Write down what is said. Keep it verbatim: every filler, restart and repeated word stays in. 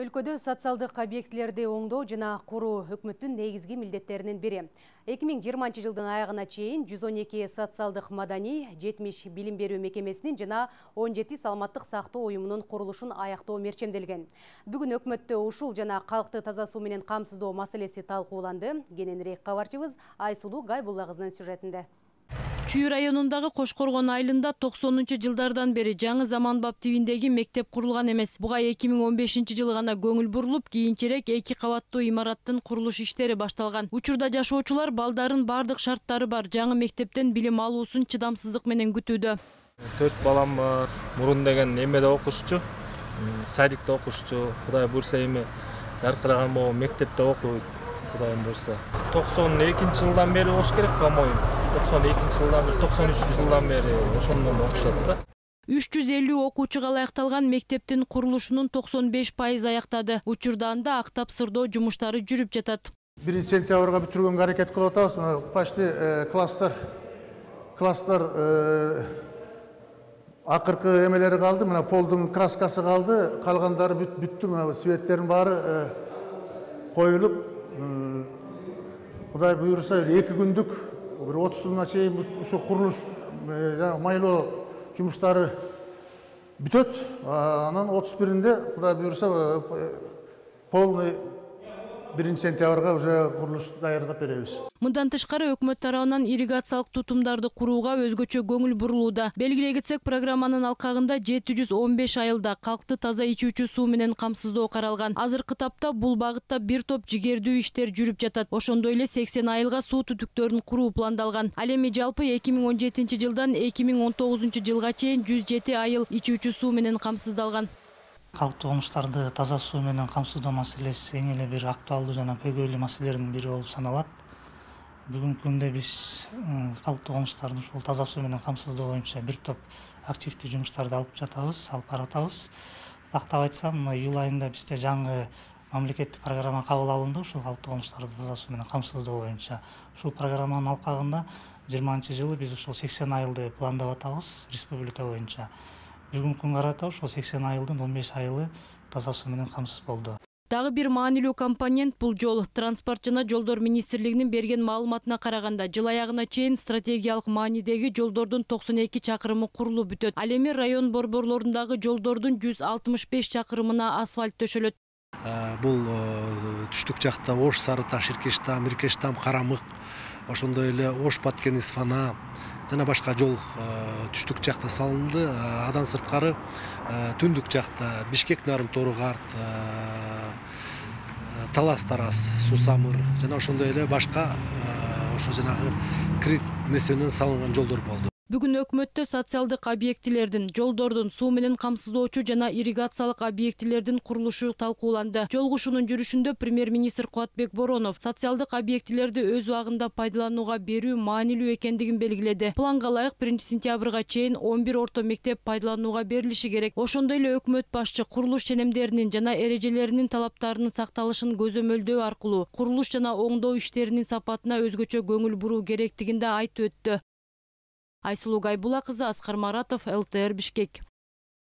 Өлкөдө социалдык объектилерди оңдоо жана куруу өкмөттүн негизги милдеттеринин бири. эки миң жыйырманчы жылдын аягына чейин жүз он эки социалдык маданий, жетимиш билим берүү мекемесинин жана он жети саламаттык сактоо уюмунун курулушун аяктоо мерчемделген. Бүгүн өкмөттө ушул жана калкты таза суу менен камсыздоо маселеси талкууланды. Кененирээк кабарчыбыз Айсулуу Гайбулла кызынын сюжетинде. Чүй районундагы Кошкоргон айылында токсонунчу жылдардан бери жаңы заманбап тибиндеги мектеп курулган эмес. Буга эки миң он бешинчи жылы гана көңүл бурулуп, кийинчерээк эки кабаттуу имараттын курулуш иштери башталган. Учурда жашоочулар балдарын бардык шарттары бар жаңы мектептен билим алуусун чыдамсыздык менен күтүүдө. Төрт балам бар. Мурун деген эмеде окушчу, садикте окушчу. Кудай буйрса эми жаркыраган могу мектепте окуйт. Кудай буйрса. токсон экинчи жылдан бери болуш керек, по-моему. токсон экинчи жылдан бери, токсон үчүнчү жылдан бери ошондон окушат да. үч жүз элүү окуучуга ылайыкталган мектептин курулушунун токсон беш пайызы аяктады. Учурда анда актап сырдоо жумуштары жүрүп жатат. биринчи сентябрга бүтүргөнгө аракет кылып атабыз. Почти класстар класстар акыркы эмелери калды. Мына полдун краскасы калды. Калгандары бүттү. Мына светтердин баары коюлуп, Кудай буйрса эки күндүк бир отузуна чейин ушу курулуш майлоо жумуштары бүтөт. Анан отуз биринде Кудай буйрса полный биринчи сентябрга уже курулуш даярдап беребиз. Мындан тышкары өкмөт тарабынан ирригациялык тутумдарды курууга өзгөчө көңүл бурулууда. Белгилей кетсек, программанын алкагында жети жүз он беш айылда калкты таза ичүүчү суу менен камсыздоо каралган. Азыркы тапта бул багытта бир топ жигердүү иштер жүрүп жатат. Ошондой эле сексен айылга суу түтүктөрүн куруу пландалган. Ал эми жалпы эки миң он жетинчи жылдан эки миң он тогузунчу жылга чейин жүз жети айыл ичүүчү суу менен камсыздалган. Калктуу комуштарды таза суу менен камсыздоо маселеси эң эле бир актуалдуу жана көйгөйлүү маселелердин бири болуп саналат. Бүгүнкү күндө биз калктуу комуштарды ушул таза суу менен камсыздоо боюнча бир топ активдүү жумуштарды алып жатабыз, алып баратабыз. Тактап айтсам, мына июль айында бизде жаңы мамлекеттик программа кабыл алынды ушул калктуу комуштарды таза суу менен камсыздоо боюнча. Ушул программанын алкагында жыйырманчы жылы биз ушул сексен айылды пландап атабыз республика боюнча. Бүгүнкү күнгө карата ушул сексен айылдын он беш айылы таза суу менен камсыз болду. Дагы бир маанилүү компонент бул жол. Транспорт жана жолдор министрлигинин берген маалыматына караганда, жыл аягына чейин стратегиялык маанидеги жолдордун токсон эки чакырымы курулуп бүтөт. Ал эми район борборлорундагы жолдордун жүз алтымыш беш чакырымына асфальт төшөлөт. Бул түштүк жакта Ош, Сары Таш, Иркештам, Иркештам, Карамык, ошондой эле Ош, Баткен, Исфана жана башка жол түштүк жакта салынды. Адан сырткары түндүк жакта Бишкек, Нарын, Торугарт, Талас, Тарас, Сусамыр жана ошондой эле башка ошо жанагы крит несенен салынган жолдор болду. Бүгүн өкмөттө социалдык объектилердин, жолдордун, суу менен камсыздоочу жана ирригациялык объектилердин курулушу талкууланды. Жолугушуунун жүрүшүндө премьер-министр Кубатбек Боронов социалдык объектилерди өз убагында пайдаланууга берүү маанилүү экендигин белгиледи. Планга ылайык биринчи сентябрга чейин он бир орто мектеп пайдаланууга берилиши керек. Ошондой эле өкмөт башчы курулуш ченемдеринин жана эрежелеринин талаптарынын сакталышын көзөмөлдөө аркылуу курулуш жана оңдоо иштеринин сапатына өзгөчө көңүл буруу керектигин да айтып өттү. Айсулуу Гайбулла кызы, Аскар Маратов, эл тэ эр Бишкек.